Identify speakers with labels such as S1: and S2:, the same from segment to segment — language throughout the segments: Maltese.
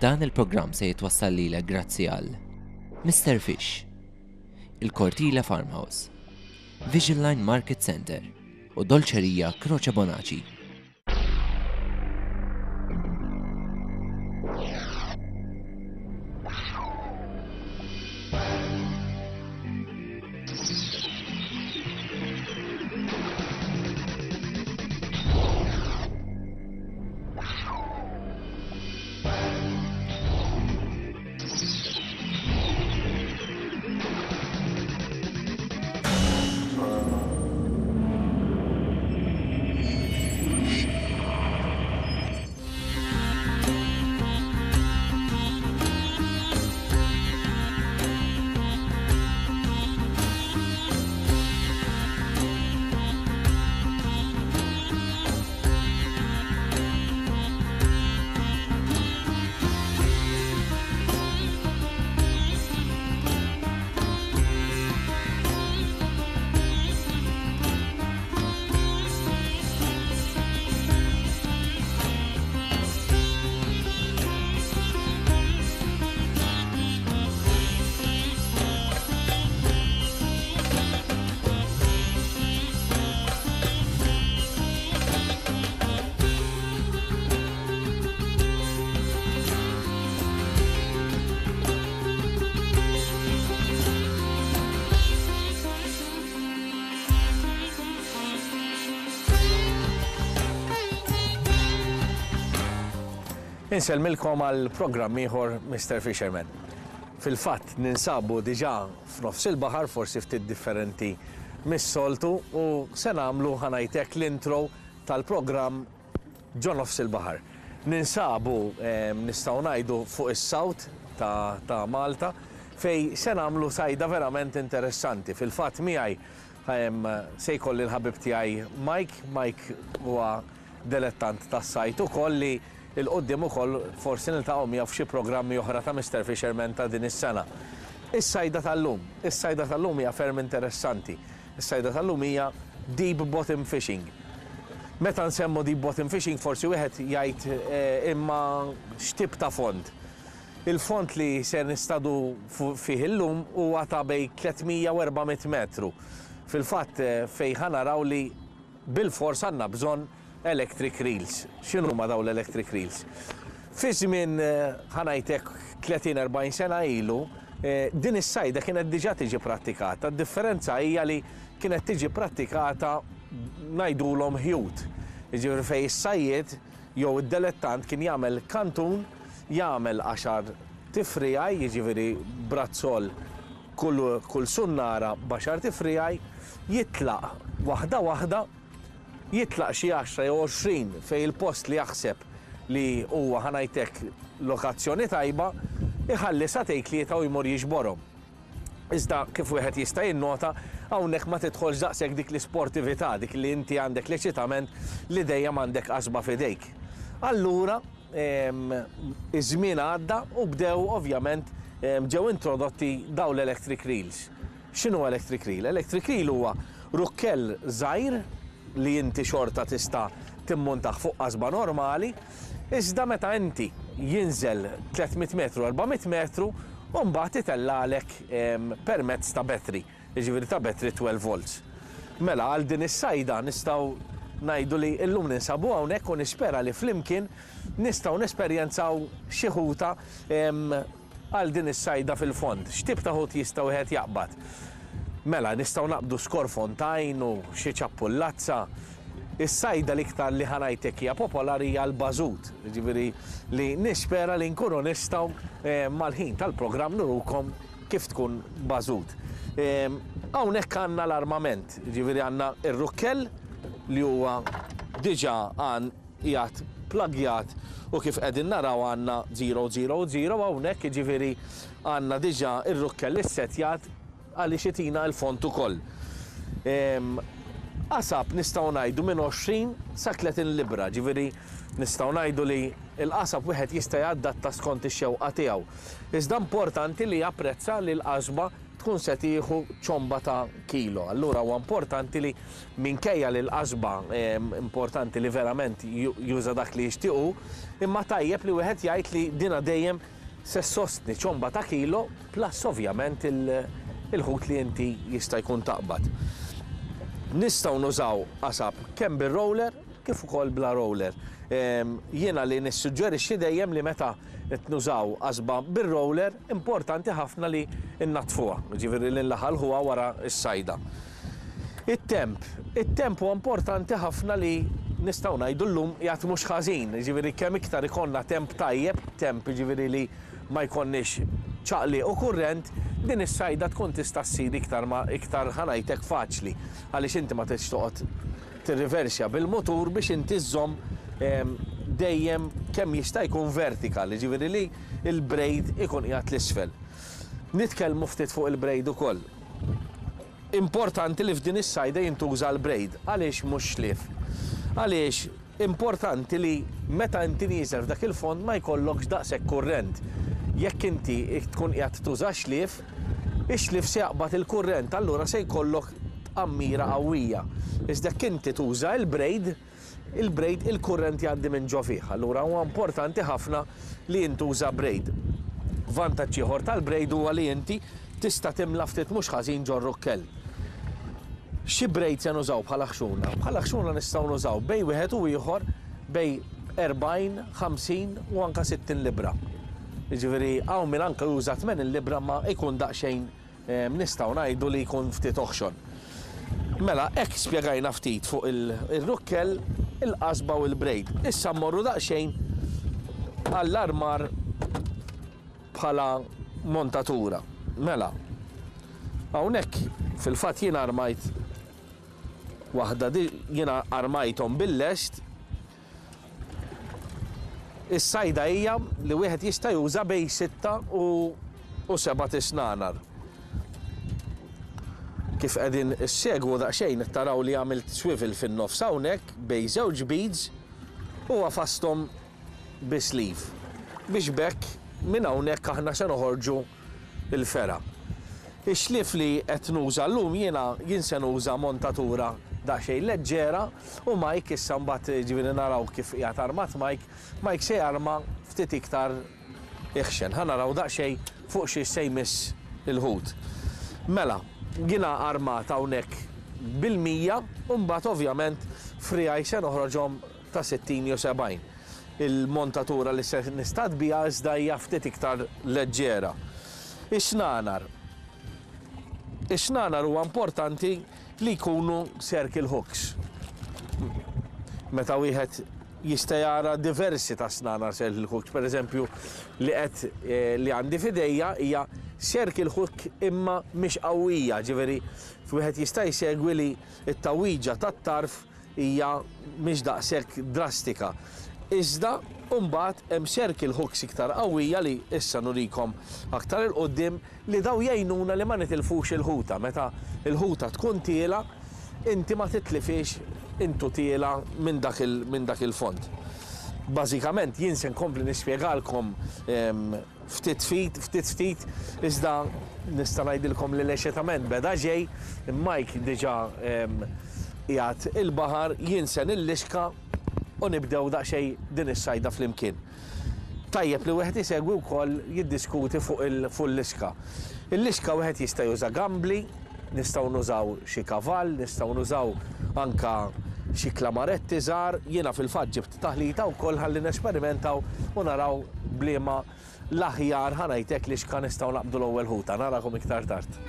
S1: Dan il-programm se jitwassal lilek grazzi għal Mister Fish, il-Cortile Farmhouse, Vision Line Market Center u Dolċerija Croce Bonaci.
S2: Insellmilkom għal programm ieħor Mr. Fisherman. Fil-fatt ninsabu diġà f'nofs il-baħar, forsi ftit differenti mis-soltu u se nagħmlu ħa ngħid hekk l-intro tal-programm ġo nofs il-baħar. Ninsabu nistgħu ngħidu fuq is-south ta' ta' Malta fejn se nagħmlu sajda verament interessanti. Fil-fatt miegħi se jkolli l-ħabib tiegħi Mike. Mike huwa delettant tas-sajd ukoll li 'l quddiem ukoll forsi niltaqgħu miegħu f'xi programmi oħra ta' Mister Fisherman ta' din is-sena. Is-sajda tal-lum. Is-sajda tal-lum hija ferm interessanti. Is-sajda tal-lum hija deep bottom fishing. Meta nsemmu deep bottom fishing forsi wieħed jgħid imma x'tip ta' fond? Il-fond li se nistadu fih illum huwa ta' bejn 300 u 400 metru. Fil-fatt fejn ħa naraw li bilfors għandna bżonn electric reels. X'inhuma dawn l-electric reels? Fi żmien, ħa ngħid hekk, 30, 40 sena ilu, din is-sajda kienet diġà tiġi prattikata. D-differenza hija li kienet tiġi prattikata ngħidulhom ħjut. Jiġifieri fejn is-sajjied jew id-delettant kien jagħmel kantun, jagħmel għaxar tifriegħi, jiġifieri brazzol kull kull sunnara b'għaxar tifriegħi, jitlaq waħda waħda, jitlaq xi għaxra jew 20 fejn il-post li jaħseb li huwa, ħa ngħid hekk, lokazzjoni tajba, iħalli sagħtejn tlieta u jmur jiġborhom. Iżda kif wieħed jista' jinnota, hawnhekk ma tidħolx daqshekk dik l-isportività, dik li inti għandek l-eċitament li dejjem għandek qasba f'idejk. Allura, iż-żmien għadda u bdew ovvjament ġew introdotti dawn l-electric reels. X'inhu electric reel? Electric reel huwa rukkell żgħir li inti xorta tista' timmuntah fuq qasba normali, iżda meta inti jinżel 300 metru, 400 metru u mbagħad itellagħlek permezz ta' battery, jiġifieri ta' battery 12 volts. Mela għal din is-sajda nistgħu ngħidu li llum ninsabu hawnhekk u nispera li flimkien nistgħu nesperjenzaw xi ħuta għal din is-sajda fil-fond. X'tip ta' ħut jista' wieħed jaqbad? Mela, nistgħu naqbdu skorfontajn u xi ċappullazza. Is-sajda l-iktar li ħa ngħid hekk hija popolari hija l-bażut, jiġifieri li nispera li nkunu nistgħu mal-ħin tal-programm nurukom kif tkun bażut. Hawnhekk għandna l-armament, jiġifieri għandna r-rukkell li huwa diġà qiegħed plagjat u kif qegħdin naraw għandna 000 hawnhekk jiġifieri għandna diġà r-rukkell issettjat għaliex itina l-font ukoll. Qasab nistgħu ngħidu minn 20 sa 30 libbra, ġifieri nistgħu ngħidu li l-qasab wieħed jista' jadatta skont ix-xewqa tiegħu. Iżda importanti li japprezza li l-qasba. tkun se tieħu ċomba ta' kilo. Allura huwa importanti li minkejja li l-qasba importanti li verament juża dak li jixtieq hu, imma tajjeb li wieħed jgħid li dina dejjem se ssostni ċomba ta' kilo plus ovvjament il-ħut li inti jista' jkun taqbad. Nistgħu nużaw qasab kemm bir-roller kif ukoll bla roller. Jiena li nissuġġerixxi dejjem li meta qed nużaw qasba bir-roller importanti ħafna li nnaddfuha, jiġifieri li nlaħalħuha wara s-sajda. It-temp. It-temp huwa importanti ħafna li nistgħu ngħidu llum qiegħed mhux ħażin, jiġifieri kemm iktar ikollna temp tajjeb, temp jiġifieri li ma jkollniex ċaqliq u kurrent, din is-sajda tkun tista' ssir iktar ma iktar ħa ngħid hekk faċli għaliex inti ma tridx toqgħod tirriversja bil-mutur biex inti żżomm dejjem kemm jista' jkun vertical, jiġifieri li l-braid ikun qiegħed 'l isfel. Nitkellmu ftit fuq il-braid ukoll. Importanti li f'din is-sajda jintuża l-braid. Għaliex mhux xlief? Għaliex importanti li meta inti nieżel f'dak il-fond ma jkollokx daqshekk kurrent. Jekk inti tkun qiegħed tuża xlief, ix-xlief se jaqbad il-kurrent allura se jkollok tqammira qawwija. Iżda jekk inti tuża l-braid, il-braid il-kurrent jgħaddi minn ġo fih, allura huwa importanti ħafna li jintuża braid. Vantaġġ ieħor tal-braid huwa li inti tista' timla ftit mhux ħażin ġor-rukkell. Xi braid se nużaw bħala ħxuna? Bħala ħxuna nistgħu nużaw bejn wieħed u ieħor bejn 40, 50 u anke 60 libbra. Jiġifieri hawn min anke juża 80 libbra ma jkun daqsxejn Nistgħu ngħidu li jkun ftit oħxon. Mela, hekk spjegajna ftit fuq ir-rukkel, il-qasba u l-braid. Issa mmorru daqsxejn għall-armar bħala montatura. Mela, hawnhekk fil-fatt jien armajt waħda jiena armajthom bil-lest. Is-sajda hija li wieħed jista' juża bejn sitta u sebat isnanar. Kif qegħdin issegwu daqsxejn qed taraw li għamilt swivel fin-nofs hawnhekk bejn żewġ beads u għafasthom bi sleeve biex b'hekk minn hawnhekk aħna se noħorġu l-fergħa. Ix-xlief li qed nuża llum jiena jien se nuża montatura daqsxejn leġġera u Mike issa mbagħad jiġifieri naraw kif qiegħed armat Mike, Mike se jarma ftit iktar iħxen. Ħa naraw daqsxejn fuq xiex se jmiss il-ħut. Mela, jiena armat hawnhekk bil-100 u mbagħad ovvjament friegħi se noħroġhom ta' 60 jew 70. Il-montatura li se nistad biha iżda hija ftit iktar leġġera. Ix-xnanar. Ix-xnanar huwa importanti li jkunu circle hooks. Meta wieħed jista' jara diversi ta' snanar circle hooks, per eżempju li qed eh, li għandi f'idejja hija circle hook imma mhix qawwija, ġifieri wieħed jista' jsegwi li t-tawwiġa tat-tarf hija mhix daqshekk drastika. Iżda mbagħad hemm circle hooks iktar qawwija li issa nurikom aktar 'il quddiem li dawn jgħinuna li ma nitilfux il-ħuta. Meta l-ħuta tkun tiela' inti ma titlifhiex intu tiela' minn dak minn dak il-fond. Bażikament jien se nkompli nispjegalkom Ftit ftit, ftit ftit, iżda nista' ngħidilkom li l-eċitament beda ġej, Mike diġà qiegħed il-baħar, jien se nillixka u nibdew daqsxejn din is-sajda flimkien. Tajjeb li wieħed isegwi wkoll jiddiskuti fuq il-lixka. Il-lixka wieħed jista' juża gambli, nistgħu nużaw xi kavall, nistgħu nużaw anke xi klamaretti żgħar, jiena fil-fatt ġibt Taħlita wkoll ħalli nesperimentaw u naraw b'liema l-aħjar, ħa ngħid hekk, lixka nistgħu naqbdu l-ewwel ħuta. Narakom iktar tard.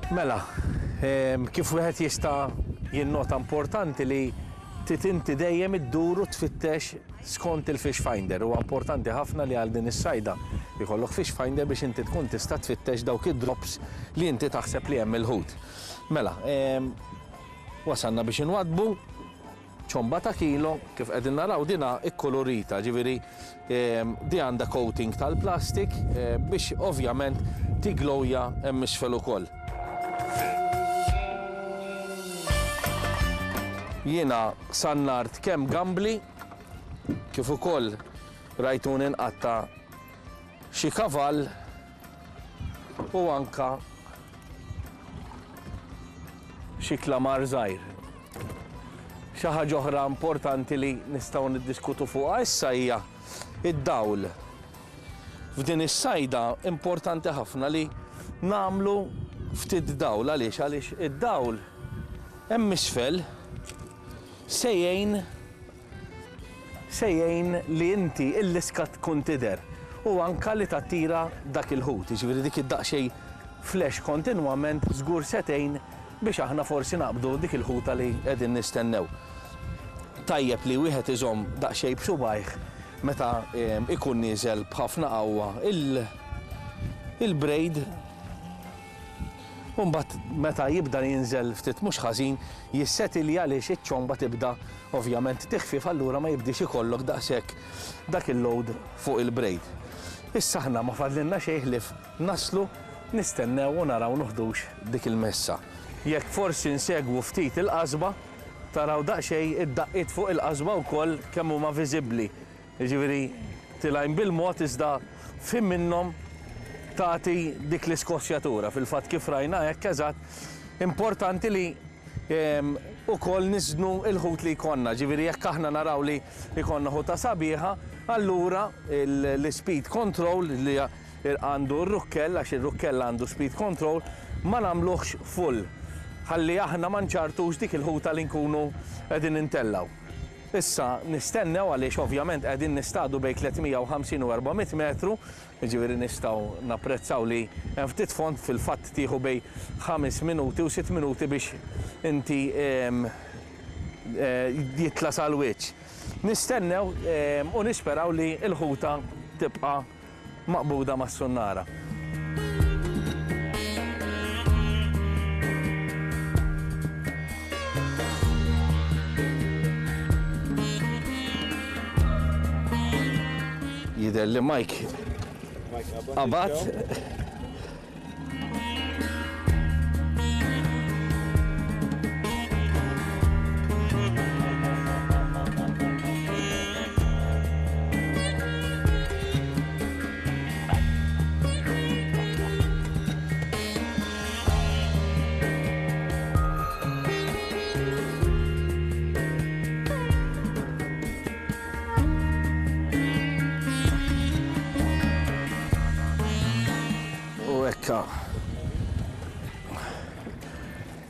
S2: Mela, kif wieħed jista' jinnota importanti li trid inti dejjem iddur u tfittex skont il-fish finder. Huwa importanti ħafna li għal din is-sajda jkollok fish finder biex inti tkun tista' tfittex dawk id-drops li inti taħseb li hemm il-ħut. Mela, wasalna biex inwaddbu. Ċomba ta' kilo, kif qegħdin naraw dinha kkulurita, ġifieri di għandha coating tal-plastik biex ovvjament tiglowja hemm isfel ukoll. Jiena sannart kemm gambli kif ukoll rajtuni nqatta' xi kavall u anka xi klamar żgħir. Xi ħaġa oħra importanti li nistgħu niddiskutu fuqha issa hija d-dawl. F'din is-sajda importanti ħafna li nagħmlu ftit dawl. Għaliex? Għaliex id-dawl hemm isfel se jgħin se jgħin li inti l-liska tkun tidher u anka li tattira dak il-ħut. Jiġifieri dik id-daqsxejn flash kontinwament żgur se tgħin biex aħna forsi naqbdu dik il-ħuta li qegħdin nistennew. Tajjeb li wieħed iżomm daqsxejn b'subgħajh meta ikun nieżel b'ħafna qawwa il-braid u mbagħad meta jibda jinżel ftit mhux ħażin jissetilja għaliex iċ-ċomba tibda ovvjament tiħfief allura ma jibdiex ikollok daqshekk dak il-load fuq il-braid. Issa aħna ma fadlilna xejn ħlief Naslu, nistennew u naraw noħdux dik il-messa. Jekk forsi nsegwu ftit il-qasba, taraw daqsxejn id-daqqiet fuq il-qasba wkoll kemm huma viżibbli. Jiġifieri tilgħin bil-mod iżda f'ħin minnhom tagħti dik l-iskossjatura. Fil-fatt kif rajna hekk eżatt, importanti li ukoll niżnu l-ħut li jkollna. Ġifieri jekk aħna naraw li jkollna ħuta sabiħa, allura l-ispeed control li għandu r-rukkell, għax ir-rukkell għandu speed control, ma nagħmluhx full ħalli aħna ma nċarrtux dik il-ħuta li nkunu qegħdin intellgħu. Issa nistennew għaliex ovvjament qegħdin nistadu bejn 350 u 400 metru, jiġifieri nistgħu napprezzaw li hemm ftit fond, fil-fatt tieħu bejn ħames minuti u sitt minuti biex inti jitla' sal-wiċċ. Nistennew u nisperaw li l-ħuta tibqa' maqbuda mas-sunnara. Jidher li Mike qabad. U hekka.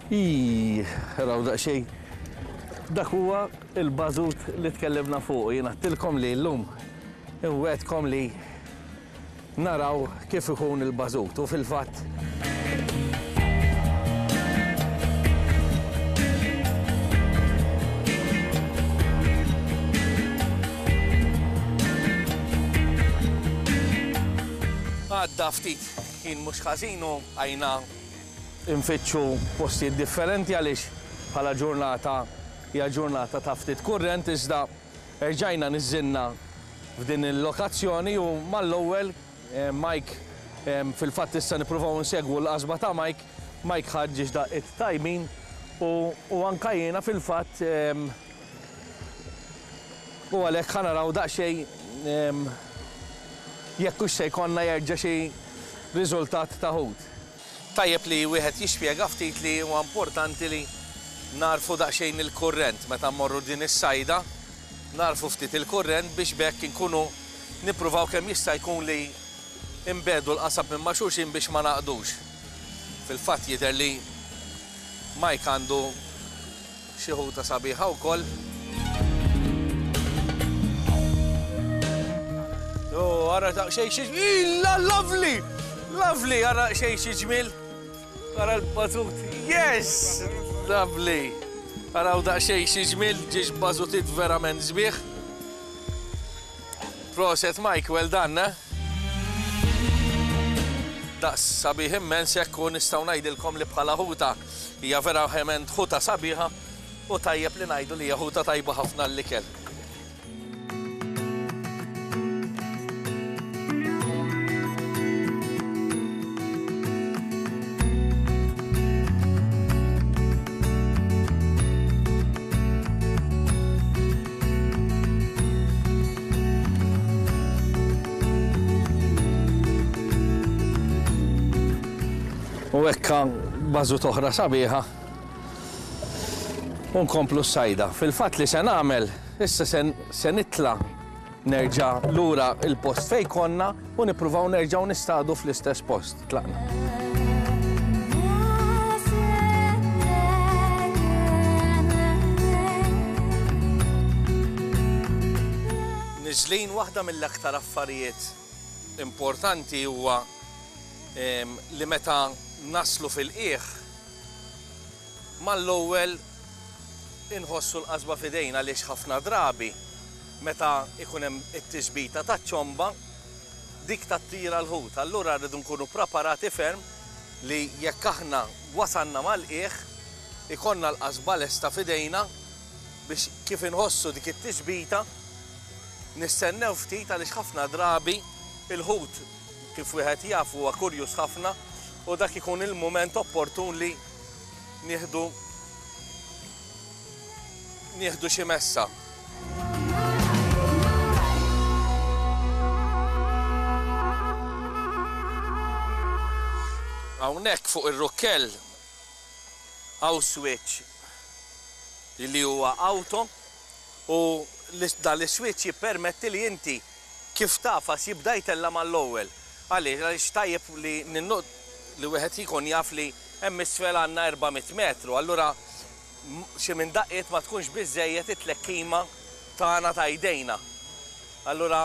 S2: Ii, raw daqsxejn. Dak huwa il-bażut li tkellimna fuq. Jien għedtilkom li llum inwegħedkom li naraw kif ikun il-bażut u fil-fatt Għadda ftit ħin mhux ħażin u bqajna nfittxu postijiet differenti għaliex bħala ġurnata hija ġurnata ta' ftit kurrent iżda erġajna niżżilna f'din il-lokazzjoni u mal-ewwel Mike fil-fatt issa nippruvaw insegwu l-qasba ta' Mike, Mike ħa ġiex daqqiet tajbin u anka jiena fil-fatt u għalhekk ħa naraw daqsxejn jekk hux se jkollna jerġa' xi riżultat ta' ħut. Tajjeb li wieħed jispjega ftit li huwa importanti li nagħrfu daqsxejn il-kurrent meta mmorru din is-sajda, nagħrfu ftit il-kurrent biex b'hekk inkunu nippruvaw kemm jista' jkun li nbegħdu l-qasab minn ma' xulxin biex ma nagħqdux. Fil-fatt jidher li Mike għandu xi ħuta sabiħa wkoll. Oh, ara daqsxejn xi Illa lovely! Lovely, ara xejn xi ġmiel. Ara l-bażut. Yes! Lovely! Araw daqsxejn xi ġmiel, ġiex bażutit verament sbieħ. Proset Mike, well done, eh? Daqs sabiħ immens hekk u nistgħu ngħidilkom li bħala ħuta hija verament ħuta sabiħa u tajjeb li ngħidu li hija ħuta tajba ħafna għall-ikel. U hekk bażut oħra sabiħa. U nkomplu s-sajda. Fil-fatt li se nagħmel, issa se nitla' nerġa' lura il-post fejn konna u nippruvaw nerġgħu nistadu fl-istess post. Tlaqna. Niżlin waħda mill-aktar affarijiet importanti huwa li meta naslu fil-qiegħ Mal-ewwel inħossu l-qasba f'idejna għaliex ħafna drabi meta jkun hemm it-tisbita taċ-ċomba, dik tattira l-ħut. Allura rridu nkunu preparati ferm li jekk aħna wasalna mal-qiegħ, ikollna l-qasba lesta f'idejna biex kif inħossu dik it-tisbita, nistennew ftit għaliex ħafna drabi l-ħut kif wieħed jaf huwa kurjuż ħafna u dak ikun il-mument opportun li nieħdu nieħdu xi messa. Hawnhekk fuq ir-rukkell hawn switch li huwa auto u dan l-iswitch jippermetti li inti kif tagħfas jibda jtella' mal-ewwel. Għaliex? Għaliex tajjeb li li wieħed jkun jaf li hemm isfel għandna 400 metru, allura xi minn daqqiet ma tkunx biżżejjed it-tlekkima tagħna ta' jdejna. Allura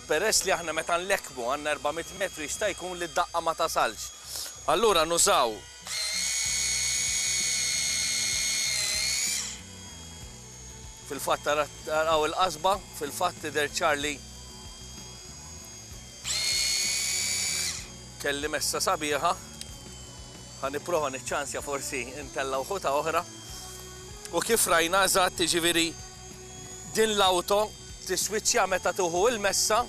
S2: peress li aħna meta nlekkmu għandna 400 metru jista' jkun li d-daqqa ma tasalx. Allura nużaw Fil-fatt taraw il-qasba, fil-fatt tidher ċar li kelli messa sabiħa. Ħa nipprova niċċansja forsi ntella' wħuta oħra. U kif rajna eżatt, jiġifieri din l-awto tiswiċċja meta tieħu il-messa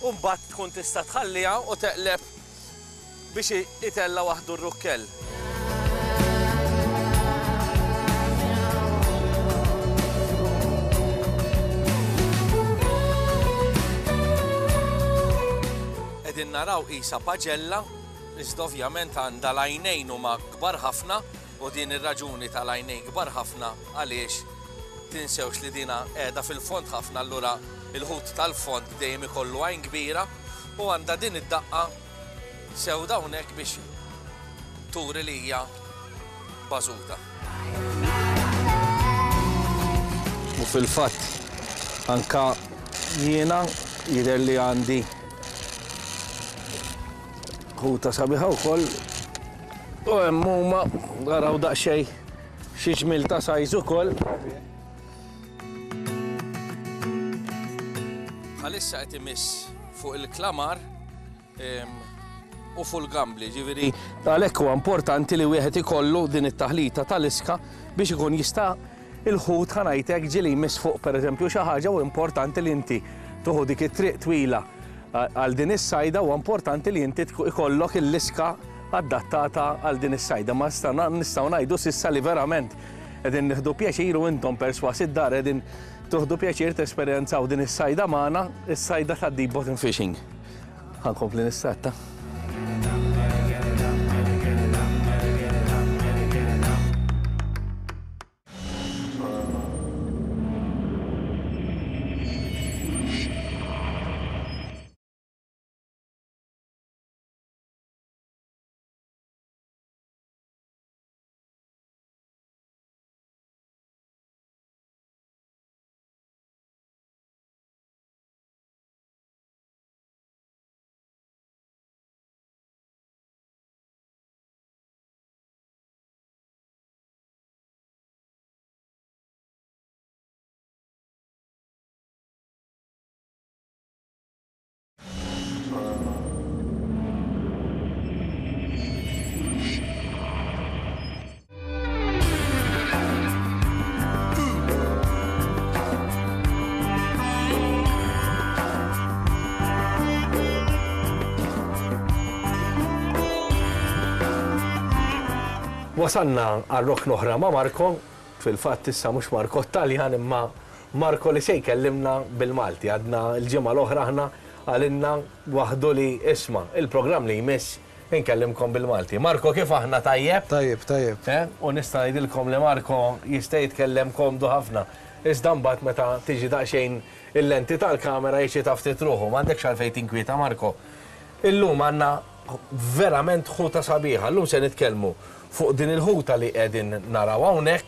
S2: u mbagħad tkun tista' tħalliha u teqleb biex itella' waħdu r-rukkell. Qegħdin naraw qisha paġella, iżda ovvjament għandha l-għajnejn huma kbar ħafna u din ir-raġuni tal-għajnejn kbar ħafna għaliex tinsewx li dina qiegħda fil-fond ħafna allura il-ħut tal-fond dejjem ikollu għajn kbira u għandha din id-daqqa sewda hawnhekk biex turi li hija bażuta. U fil-fatt anka jiena jidher li għandi ħuta sabiħa wkoll u hemm huma araw daqsxejn xi ġmiel ta' size ukoll. Bħalissa qed imiss fuq il-klamar u fuq il-gambli, ġifieri għalhekk huwa importanti li wieħed ikollu din it-taħlita tal-iska biex ikun jista' il-ħut ħa ngħid hekk ġieli jmiss fuq pereżempju xi ħaġa u importanti li inti tuħu dik it-triq twila għal din is-sajda huwa importanti li inti ikollok il-liska adattata għal din is-sajda. Ma nistgħu ngħidu s'issa li verament qegħdin nieħdu pjaċir u intom persważ id-dar qegħdin tuħdu pjaċir tesperjenzaw din is-sajda magħna, is-sajda ta' deep bottom fishing. Ħa nkompli nistatta. Wasalna għal rokna oħra ma' Marco, fil-fatt issa mhux Marco t-Taljan imma Marco li se jkellimna bil-Malti. Għadna l-ġimgħa l-oħra aħna qalilna waħdu li isma' il-programm li jmiss inkellimkom bil-Malti. Marco kif aħna tajjeb?
S3: Tajjeb, tajjeb.
S2: Eh? U nista' ngħidilkom li Marco jista' jitkellem komdu ħafna. Iżda mbagħad meta tiġi daqsxejn il-lenti tal-kamera jiċċita ftit ruħu. M'għandekx għalfejn tinkwieta Marco. Illum għandna verament ħuta sabiħa. Illum se nitkellmu fuq din il-ħuta li qegħdin naraw hawnhekk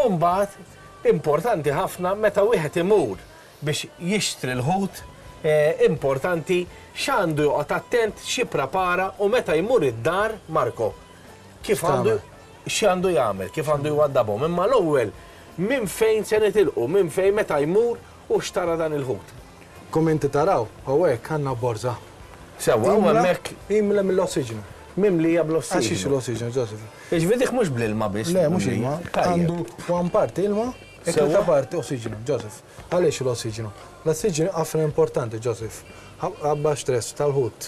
S2: u mbagħad importanti ħafna meta wieħed imur biex jixtri l-ħut importanti x'għandu joqgħod attent, x'jipprepara u meta jmur id-dar, Marco, kif għandu x'għandu jagħmel, kif għandu jwaddabhom. Imma l-ewwel minn fejn se nitilqu, minn fejn meta jmur u xtara dan il-ħut.
S3: Kum inti taraw, hawnhekk għandna borża.
S2: Sewwa, u hemmhekk.
S3: Imla mill-ossiġnu.
S2: Mimlija bl-ossiġnu.
S3: Għax xiex l-ossiġnu, Joseph?
S2: Jiġifieri dik mhux bl-ilma biss.
S3: Le, mhux ilma. Għandu one parti ilma, e tlieta parti ossiġnu, Joseph. Għaliex l-ossiġnu? L-ossiġnu ħafna importanti, Joseph. Ħabba stress tal-ħut.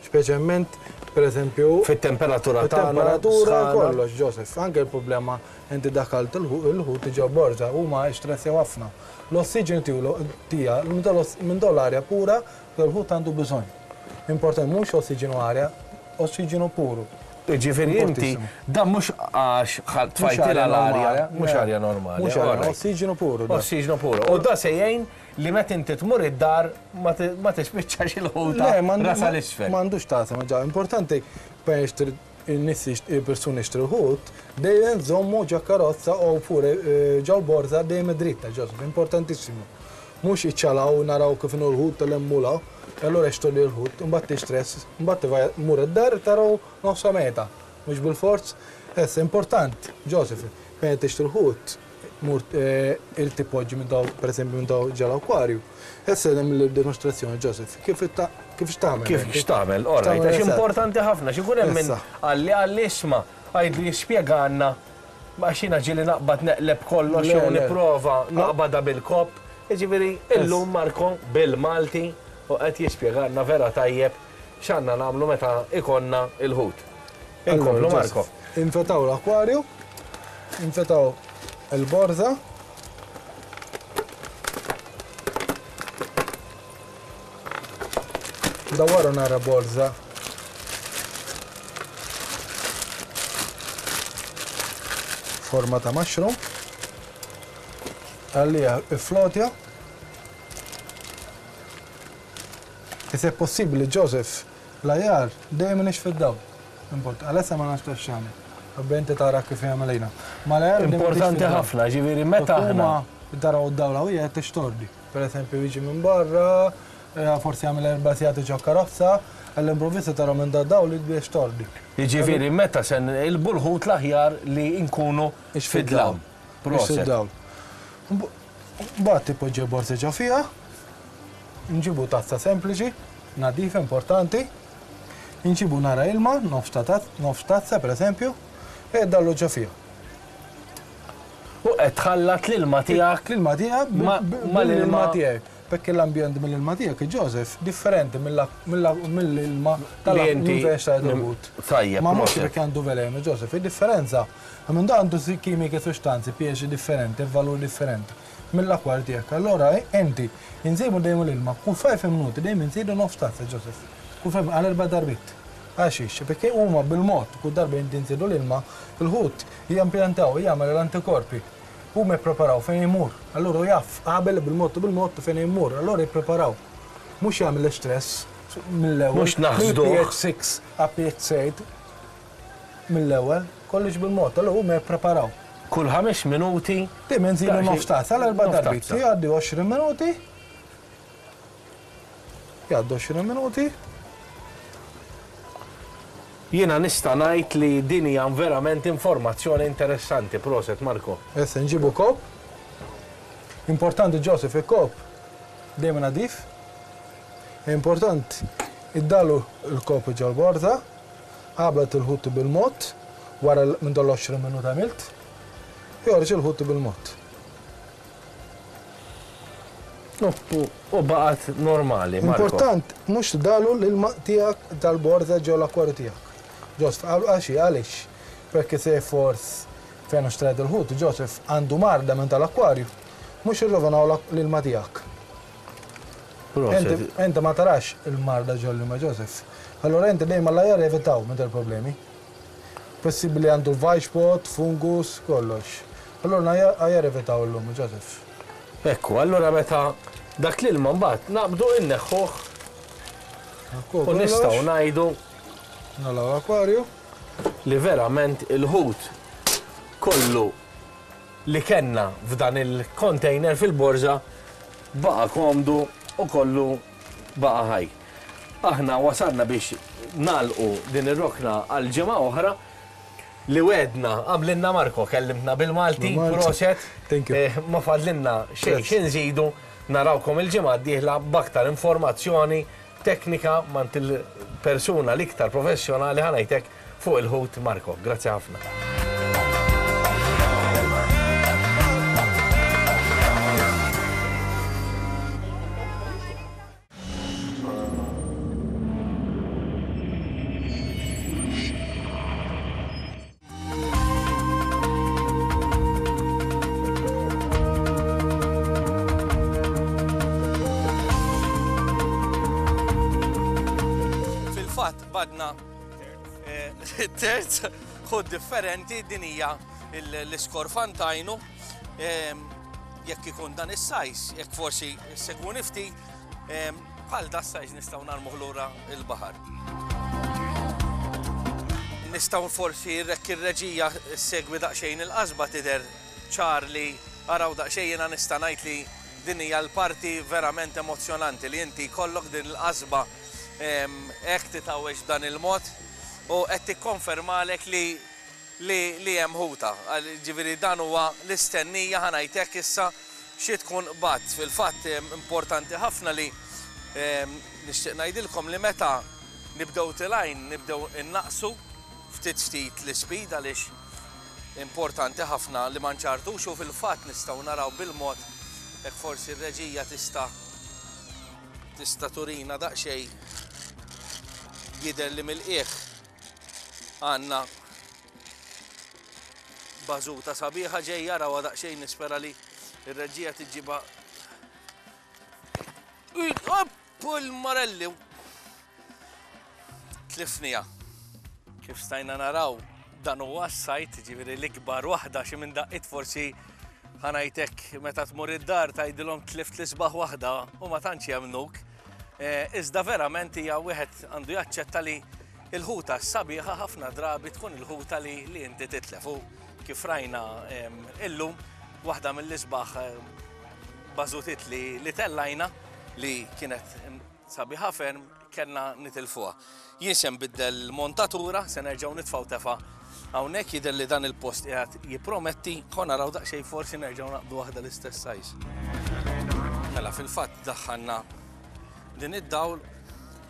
S3: Speċjalment, per eżempju.
S2: Fit-temperatura tagħna.
S3: Fit-temperatura kollox, Joseph. Anke l-problema inti daħħalt il-ħut ġo borża, huma stressjaw ħafna. L-ossiġenu tija, minn dawn l-arja pura l-ħut għandu bżonn. Importanti, mhux ossiġenu arja, ossiġenu puru.
S2: Jiġifieri inti dan mhux għax tfajtilha l-arja, mhux arja normali.
S3: Mhux arja, ossiġenu puru.
S2: Ossiġenu puru. U da se jgħin li meta inti tmur id-dar ma tispiċċax il-ħuta rasha 'l isfel.
S3: M'għandux tagħtem, ġa importanti biex in-nies il-persuni jixtru l-ħut, dejjem żommu ġo karozza o pure ġo l-borża dejjem dritta, Joseph, importantissimu. Mhux iċċalaw naraw kif inhu l-ħut tal-hemm u 'l hawn, allura jixtru li l-ħut, imbagħad tistress, imbagħad tmur id-dar taraw nofsha mejta. Mhux bilfors? Issa important, Joseph, meta tixtri l-ħut, mur irid tipoġġi minn daw, pereżempju minn daw ġo l-akwarju. Issa nagħmel dimostrazzjoni Joseph, kif kif x'tagħmel.
S2: Kif x'tagħmel, all right, għax importanti ħafna, xi jkun hemm min qalli qalli isma' għidlu jispjegalna għax jiena ġieli naqbad neqleb kollox jew nipprova naqbadha bil-kopp. Jiġifieri illum Marco bil-Malti u qed jispjegalna vera tajjeb x'għandna nagħmlu meta jkollna l-ħut. Inkomplu Marco.
S3: Infetaw l-akwarju, infetaw il-borża. Dawwaru nara borża. Forma ta' mushroom. Għalija iflotja. Se possibbli Joseph l-ajar dejjem inixx fid-dawl. Import, għalissa ma nafx taf x'għamel. Qabel inti tara kif jagħmel lejna. Ma l-ajar dejjem inixx
S2: Importanti
S3: fid-dawl.
S2: ħafna, ġifieri meta aħna.
S3: Huma taraw d-dawl qawwija qed tixtordi. Per eżempju jiġi minn barra, forsi jagħmel erba' sigħat ġo karozza, għall-improvvisa taraw minn dad-dawl jibda jixtordi.
S2: Jiġifieri meta se nqilbu l-ħut l-aħjar li nkunu fid-dlam.
S3: Proset. Fid-dawl. Mbagħad tipoġġi l-borża ġo fiha. Nġibu tazza sempliċi, nadifa importanti. Nġibu nara ilma, nofs ta' nofs tazza pereżempju, e dallu ġo fiha.
S2: U qed tħallat l-ilma tiegħek.
S3: L-ilma tiegħek mal-ilma tiegħek. Perché l-ambjent mill-ilma tiegħek, Joseph, differenti mill-ilma tal-ħut.
S2: Tajjeb.
S3: Ma mhux perché għandu velenu, Joseph, id-differenza minn dan għandu kimiki sustanzi, pH differenti, valur differenti mill-akwarju tiegħek. Allora inti inżidu dejjem l-ilma kull 5 minuti dejjem inżidu nofs tazza, Joseph. Kull 5 għal erba' darbiet. Għaxiex, perché huma bil-mod kull darba inti nżidu l-ilma, il-ħut jampjantaw, jagħmel l-antikorpi. Huma jippreparaw fejn imur. Allura jaf qabel bil-mod u bil-mod fejn imur, allura jippreparaw. Mhux jagħmel stress mill-ewwel.
S2: Mhux naħsduh.
S3: pH 6 għal pH 8 mill-ewwel, kollox bil-mod, allura huma jippreparaw.
S2: Kull ħames minuti.
S3: Dejjem inżidu nofs tazza għal erba' darbiet. Jgħaddi 20 minuti. Jgħaddu 20 minuti.
S2: Jiena nista' ngħid li din hija verament informazzjoni interessanti. Proset, Marco.
S3: Issa nġibu kopp. Importanti Joseph il-kopp dejjem nadif. Important iddalu l-kopp ġol-borża, qabel il-ħut bil-mod, wara minn dol 20 minuta għamilt, joħroġ il-ħut bil-mod.
S2: U baqgħet normali, Marco.
S3: Important, mhux dalu l-ilma tiegħek tal-borża ġo l-akwarju tiegħek. Ġost, għaxi, għaliex? Perché se forse fejn xtrajt il-ħut, Joseph għandu marda minn tal-akwarju, mhux irrovinaw l-ilma tiegħek. Inti ma tarax il-marda ġol-ilma Joseph. Allora inti dejjem l-aħjar evitaw minn dal-problemi. Possibbli għandu l-white fungus, kollox. Allora aħjar evitaw illum, Joseph.
S2: Ekku, allora meta dak l-ilma mbagħad naqbdu inneħħuh u nistgħu ngħidu
S3: Nagħlqu l-akwarju.
S2: Li verament il-ħut kollu li kellna f'dan il-container fil-borża baqa' komdu u kollu baqa' ħaj. Aħna wasalna biex nagħlqu din ir-rokna għal ġimgħa oħra li wegħdna għamlilna Marco, kellimtna bil-Malti, proset.
S3: Thank you.
S2: Ma fadlilna xejn xi nżidu, narawkom il-ġimgħa d-dieħla b'aktar informazzjoni teknika m'għand il-persuna l-iktar professjonali ħa ngħidlek fuq il-ħut Marco. Grazzi ħafna. Fil-fatt badna eh, terz ħud differenti din hija l-iskorfantajnu ehm, jekk ikun dan is-sajs, jekk forsi segwuni ftit, ehm, bħal da sajs nistgħu narmuh lura il-baħar. Nistgħu forsi rekk ir-reġija segwi daqsxejn il-qasba tidher ċar li araw daqsxejn jiena nista' ngħid li din hija l-parti verament emozzjonanti li inti jkollok din il-qasba ehm, hekk titgħawweġ b'dan il-mod u qed tikkonfermalek li li li hemm ħuta. Ġifieri dan huwa l-istennija ħa ngħid hekk issa xi tkun qbadt. Fil-fatt importanti ħafna li nixtieq ngħidilkom li meta nibdew tilgħin nibdew innaqqsu ftit ftit l-ispeed għaliex importanti ħafna li ma nċartux u fil-fatt nistgħu naraw bil-mod hekk forsi r-reġija tista' tista' turina daqsxejn jidher li mill-qiegħ Għandna bażuta sabiħa ġejja rawha daqsxejn nispera li r-reġija tiġiba. Pul Marelli! Tlifnija. Kif stajna naraw, dan huwa s-sajt, ġifieri l-ikbar waħda xi minn daqqiet forsi ħanajtek meta tmur id-dar tgħidilhom tlift l-isbaħ waħda u ma tantx jemmnuk. Eh, iżda verament hija wieħed għandu jaċċetta li l-ħuta s-sabiħa ħafna drabi tkun il-ħuta li, li inti titlef. U kif rajna illum waħda mill-isbaħ bażutit li, li tellajna li kienet sabiħa ferm kellna nitilfuha. Jien se nbiddel l-montatura, se nerġgħu nitfgħu tefa' hawnhekk jidher li dan il-post qiegħed jipprometti, ħa naraw daqsxejn forsi nerġgħu naqbdu waħda l-istess size. Mela fil-fatt daħħalna din id-dawl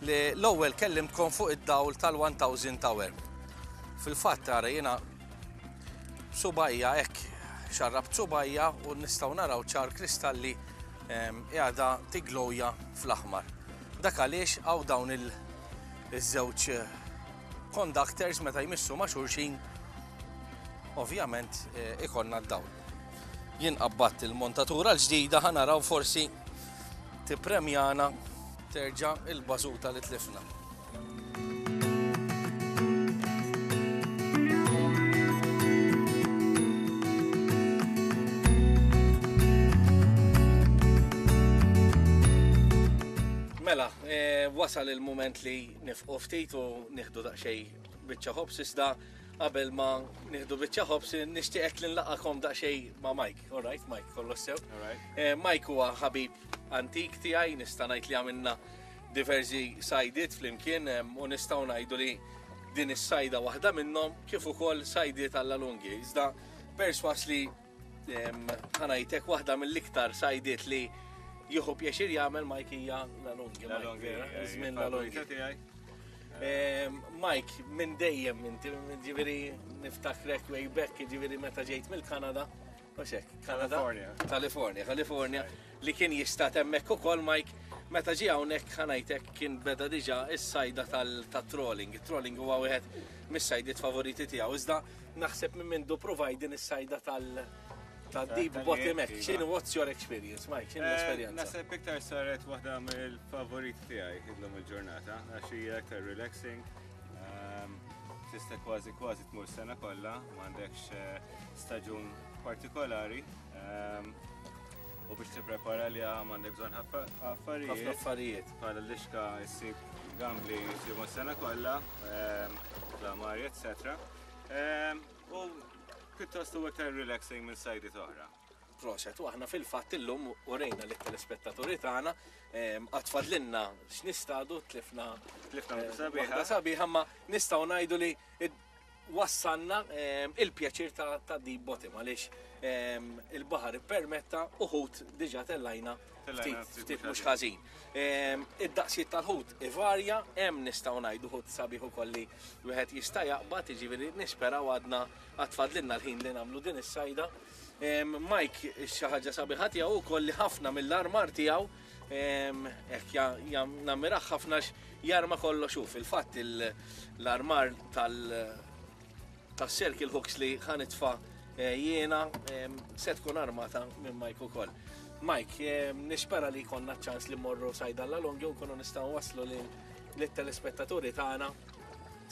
S2: li l-ewwel kellimtkom fuq id-dawl tal-1000 Tower. Fil-fatt ara jiena subajja hekk xarrabt subajja u nistgħu naraw ċar kristalli ehm, qiegħda tiglowja fl-aħmar. Dak għaliex hawn dawn il-żewġ conductors meta jmissu ma' xulxin ovvjament eh, ikollna d-dawl. Jien qabbadt il-montatura l-ġdida ħa naraw forsi tippremjana terġa' il-bażuta li tlifna. Mela, eh, wasal il-moment li nifqu ftit u nieħdu daqsxejn biċċa ħobż iżda qabel ma nieħdu biċċa ħobż nixtieqek li nlaqakom daqsxejn ma' Mike. All right, Mike, kollox sew. Eh, Mike huwa ħabib antik tiegħi, nista' ngħid li għamilna diversi sajdiet flimkien eh, u nistgħu ngħidu li din is-sajda waħda minnhom kif ukoll sajdiet alla lungi. Iżda perswas li Ħa ngħidlek waħda mill-iktar sajdiet li jieħu pjaċir jagħmel Mike hija la lungi.
S4: La lungi,
S2: Żmien la lungi. Mike, minn dejjem inti, ġifieri niftakrek way back, ġifieri meta ġejt mill-Kanada, mhux hekk, Kanada?
S4: California.
S2: California, California, li kien jistat hemmhekk ukoll Mike. Meta ġie hawnhekk ħa ngħid hekk kien beda diġà s-sajda tat-trolling. It-trolling huwa wieħed mis-sajdiet favoriti tiegħu. Iżda naħseb minn mindu provajt din is-sajda tal- ta' deep bottom hekk. X'inhu what's your experience, Mike? X'inhu eh, l-esperjenza?
S4: Naħseb iktar saret waħda mill-favoriti tiegħi illum il-ġurnata għax hija iktar relaxing. Ehm, tista' kważi kważi tmur sena kollha, m'għandekx eh, staġun partikolari. Ehm, U biex tipprepara li għandek bżonn affarijiet.
S2: Ħafna affarijiet.
S4: Bħala lixka issib gambli jsibu s-sena kollha, ehm, klamari, etc. Ehm, u pjuttost huwa iktar relaxing minn sajdiet oħra.
S2: Proset, u aħna fil-fatt illum urejna lit-telespettaturi tagħna ehm, għad fadlilna x'nistadu tlifna
S4: tlifna eh, sabiħa.
S2: Sabiħa ma nistgħu ngħidu li wassalna il-pjaċir ta' deep bottom għaliex il-baħar ippermetta u ħut diġà tellajna ftit mhux ħażin. Id-daqsijiet tal-ħut ivarja, hemm nistgħu ngħidu ħut sabiħ ukoll li wieħed jista' jaqbad, jiġifieri nisperaw għadna għad fadlilna l-ħin li nagħmlu din is-sajda. Mike xi ħaġa sabiħa tiegħu wkoll li ħafna mill-armar tiegħu Hekk nammirah ħafna jarma kollox hu. Fil-fatt l-armar tal-circle hooks li ħa nitfa' eh, jiena se tkun armata minn Mike ukoll. Mike, nispera li jkollna ċans li morru sajda l longi u nkunu nistgħu waslu lit-telespettaturi tagħna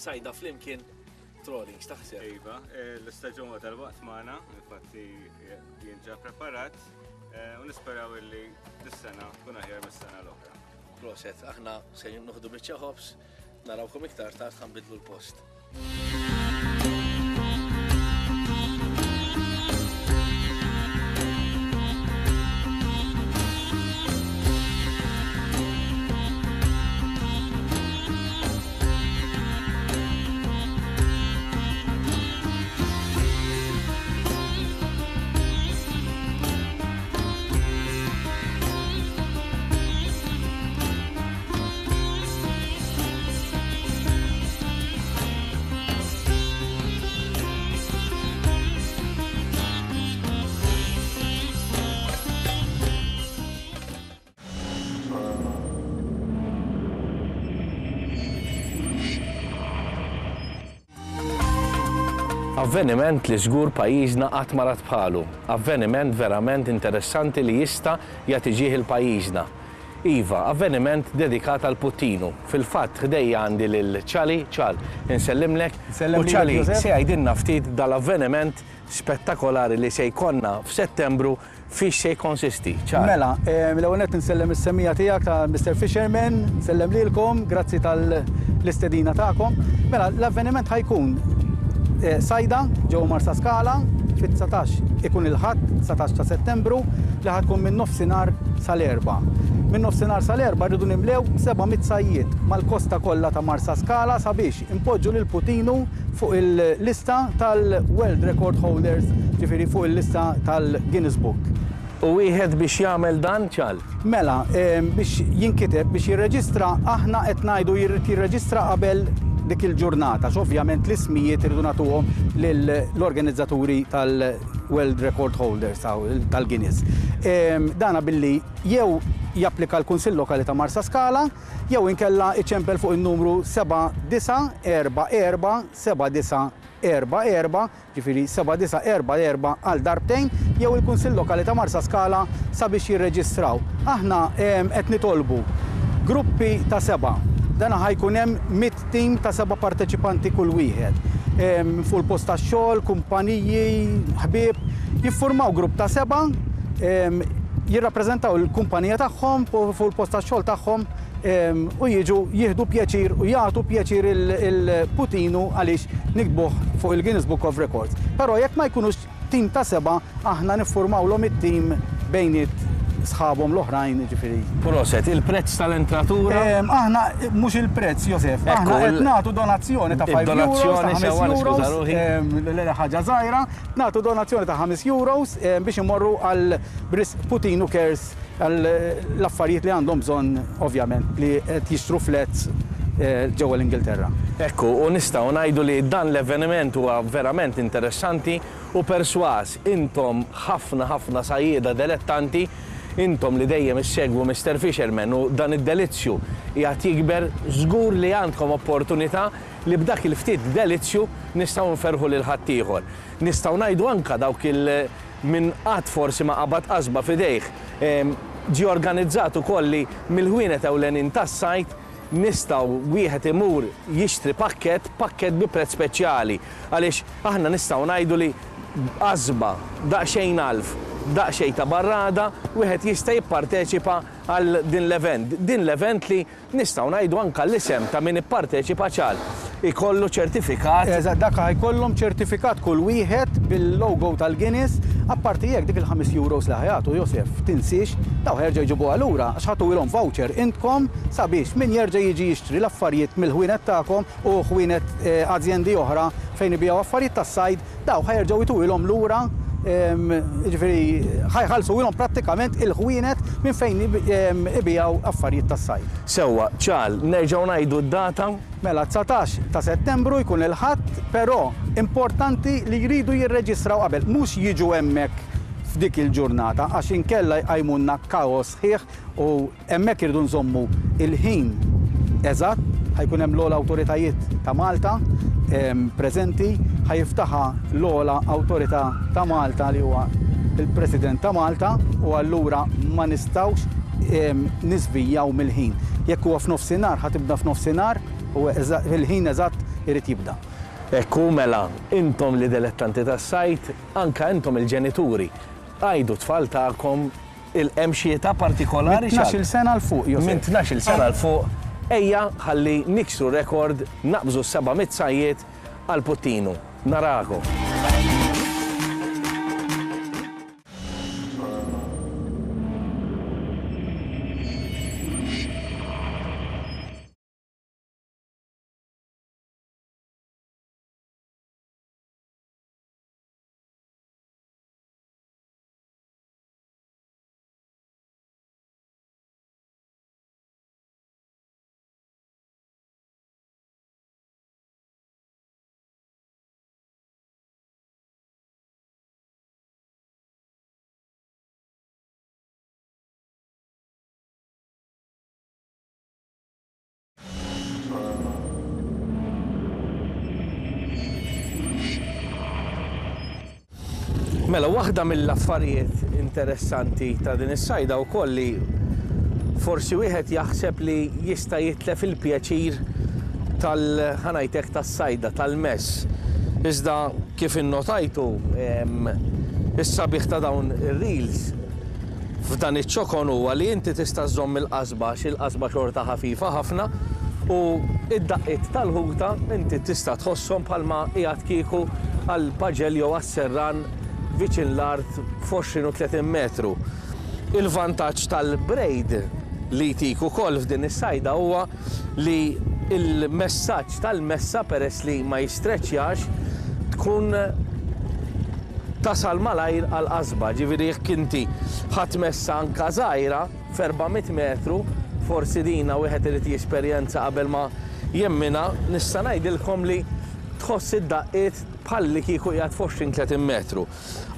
S2: sajda flimkien trolling, x'taħseb?
S4: Iva, eh, l-istaġun tal-waqt magħna, infatti eh, jien ġa preparat, U nisperaw illi dis-sena tkun aħjar mis-sena l-oħra.
S2: Proset, aħna se noħdu biċċa ħobż, narawkom iktar tard ħa nbiddlu l-post. Avveniment li żgur pajjiżna qatt ma rat bħalu. Avveniment verament interessanti li jista' jagħti ġieħ 'il pajjiżna. Iva, avveniment dedikat għal Puttinu. Fil-fatt ħdejja għandi lil Ċali, Ċal, insellimlek. U Ċali se jgħidilna ftit dal-avveniment spettakolari li se jkollna f'Settembru Fiex se jikkonsisti? Ċar.
S3: Mela, l-ewwel nett insellem is-semmiegħa tiegħek ta' Mister Fisherman, nsellem lilkom, grazzi tal-istedina tagħkom. Mela, l-avveniment ħa jkun sajda ġewwa Marsaskala fit-19 ikun il-Ħadd 19 ta' Settembru li ħa tkun minn nofsinhar sal-erbgħa. Minn nofsinhar sal-erbgħa rridu nimlew 700 sajjied mal-kosta kollha ta' Marsaskala sabiex inpoġġu lil Putinu fuq il-lista tal-World Record Holders, ġifieri fuq il-lista tal-Guinness Book.
S2: U wieħed biex jagħmel dan, Ċal?
S3: Mela, biex jinkiteb, biex jirreġistra, aħna qed ngħidu jrid jirreġistra qabel dik il-ġurnata, għax ovvjament l-ismijiet irridu nagħtuhom lill-organizzaturi tal-World Record Holders, tal-Guinness. Dana billi jew japplika l-Kunsill Lokali ta' Marsaskala, jew inkella iċempel fuq in-numru 7944 7944, ġifieri 7944 għal darbtejn, jew il-Kunsill Lokali ta' Marsaskala sabiex jirreġistraw. Aħna qed nitolbu gruppi ta' sebgħa. Dan ħa jkun hemm mitt tim ta' seba' parteċipanti kull wieħed. Fuq il-post tax-xogħol, kumpaniji, ħbieb, jiffurmaw grupp ta' sebgħa, jirrappreżentaw il-kumpanija tagħhom fuq il-post tax-xogħol tagħhom u jiġu jieħdu pjaċir u jagħtu pjaċir il-Putinu għaliex niktbuh fuq il-Guinness Book of Records. Però jekk ma jkunux tim ta' sebgħa aħna niffurmawlhom it-tim bejniet sħabhom l-oħrajn, jiġifieri.
S2: Proset, il-prezz tal-entratura?
S3: Aħna mhux il-prezz, Josef, aħna qed nagħtu donazzjoni ta' 5 euros, ta' 5 euros, le ħaġa żgħira, Nagħtu donazzjoni ta' 5 euros biex imorru għal b'risq Puttinu Cares għal l-affarijiet li għandhom bżonn ovvjament li qed jixtru flats ġewwa l-Ingilterra.
S2: Ekku, u nistgħu ngħidu li dan l-avveniment huwa verament interessanti u persważ intom ħafna ħafna sajjieda delettanti. Intom li dejjem issegwu Mister Fisherman u dan id-delizzju qiegħed jikber, żgur li għandkom opportunità li b'dak il-ftit delizzju nistgħu nferrħu lil ħaddieħor. Nistgħu ngħidu anke dawk il min qatt forsi ma qabad qasba f'idejh. Ġie organizzat ukoll li mill-ħwienet ewlenin tas-sajd nistgħu wieħed imur jixtri pakkett, pakkett bi prezz speċjali. Għaliex aħna nistgħu ngħidu li b'qasba, daqsxejn għalf, daqsxejn ta' barrada, wieħed jista' jipparteċipa għal din l-event. Din l-event li Nistgħu ngħidu anke l-isem ta' min ipparteċipa ċar ikollu ċertifikat.
S5: Eżatt, dak ħa jkollhom ċertifikat kull wieħed bil-logo tal-Guinness. Apparti hekk dik il-ħames euros li ħa jagħtu, Josef, tinsiex, dawn ħa jerġgħu jġibuha lura għax ħa tuwilhom voucher intkom sabiex min jerġa' jiġi jixtri l-affarijiet mill-ħwienet tagħkom u ħwienet azjendi oħra fejn ibigħu affarijiet tas-sajd, Dawn ħa jerġgħu jtuhilhom lura, jiġifieri ħa jħallsuhilhom prattikament il-ħwienet minn fejn ibigħu affarijiet tas-sajd.
S2: Sewwa, Ċal, nerġgħu ngħidu d-data?
S5: Mela, 19 ta' Settembru jkun il-Ħadd, però importanti li jridu jirreġistraw qabel, mhux jiġu hemmhekk f'dik il-ġurnata għax inkella jqajmulna kaos sħiħ u Hemmhekk irridu nżommu l-ħin eżatt, ħa jkun hemm l-ogħla awtoritajiet ta' Malta preżenti, ħa jiftaħha l-ogħla awtorità ta' Malta li huwa l-President ta' Malta u allura ma nistgħux niżvijjaw mill-ħin. Jekk huwa f'nofsinhar ħa tibda f'nofsinhar u il-ħin eżatt irid jibda.
S2: Hekk hu mela, intom li dilettanti tas-sajd, anke intom il-ġenituri, għidu t-tfal tagħkom Il-hemm xi età partikolari
S5: Minn tnax-il sena 'l fuq, Josef.
S2: Minn tnax-il sena 'l fuq, ejja ħalli niksru rekord, naqbżu s-700 sajjied għal Puttinu. Narakom. Mela, waħda mill-affarijiet interessanti ta' din is-sajda wkoll li forsi wieħed jaħseb li jista' jitlef il-pjaċir tal ħa ngħid hekk tas-sajda, tal-mess. Iżda kif innotajtu is-sabiħ ta' dawn ir-reels f'dan iċ-ċokon huwa li inti tista' żżomm il-qasba għax il-qasba xorta ħafifa ħafna u d-daqqiet tal-ħuta inti tista' tħosshom bħalma qiegħed kieku għall-paġell jew għas-serran viċin l-art f'20 u 30 metru. Il-vantaġġ tal-braid li jtik ukoll f'din is-sajda huwa li l-messaġġ tal-messa peress li ma jistreċċjax tkun tasal malajr għall-qasba. Ġifieri jekk inti ħadt messa anka żgħira f'400 metru, forsi dina wieħed irid jesperjenza qabel ma jemminha, nista' ngħidilkom li tħoss id-daqqiet bħallikieku qiegħed f'20 30 metru.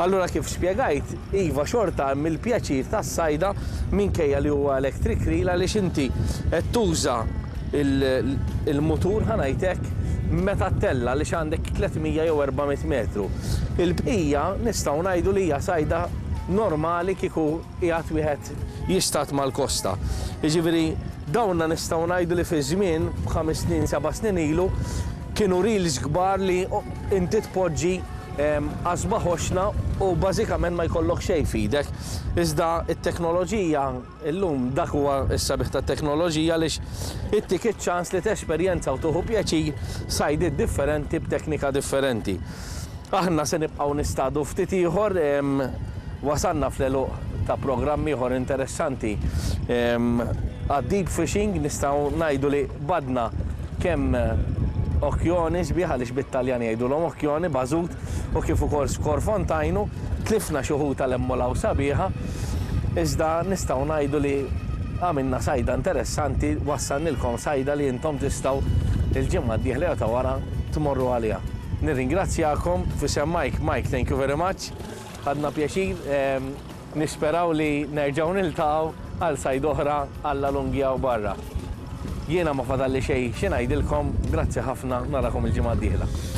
S2: Allura kif spjegajt, iva xorta hemm il-pjaċir tas-sajda minkejja li huwa electric reel għaliex inti qed tuża il-mutur ħa ngħid hekk meta ttella' għaliex għandek 300 jew 400 metru. Il-bqija nistgħu ngħidu li hija sajda normali kieku qiegħed wieħed jistad mal-kosta. Jiġifieri dawna nistgħu ngħidu li fi żmien b'ħames snin, seba' snin ilu kienu reels kbar li inti tpoġġi qasba ħoxna u bażikament ma jkollok xejn f'idek. Iżda t-teknoloġija illum dak huwa s-sabiħ tat-teknoloġija għaliex ittik iċ-ċans li tesperjenza u tieħu pjaċir sajdiet differenti b'teknika differenti. Aħna se nibqgħu nistadu ftit ieħor, wasalna fl-għeluq ta' programm ieħor interessanti għad-deep fishing, nistgħu ngħidu li qbadna kemm okjoni sbieħ għaliex bit-Taljan jgħidulhom okjoni, bażut, u kif ukoll skorfontajnu, tlifna xi ħuta l-emmolaw sabiħa, iżda nistgħu ngħidu li għamilna sajda interessanti, wassalnilkom sajda li intom tistgħu l-ġimgħa d-dieħla jew ta' wara tmorru għaliha. Nirringrazzjakom f'isem Mike. Mike, thank you very much. Ħadna pjaċir. Nisperaw li nerġgħu niltaqgħu għal sajd oħra għal Lungi u barra. Jiena ma fadalli xejn xi ngħidilkom, grazzi ħafna, narakom il-ġimgħa d-dieħla.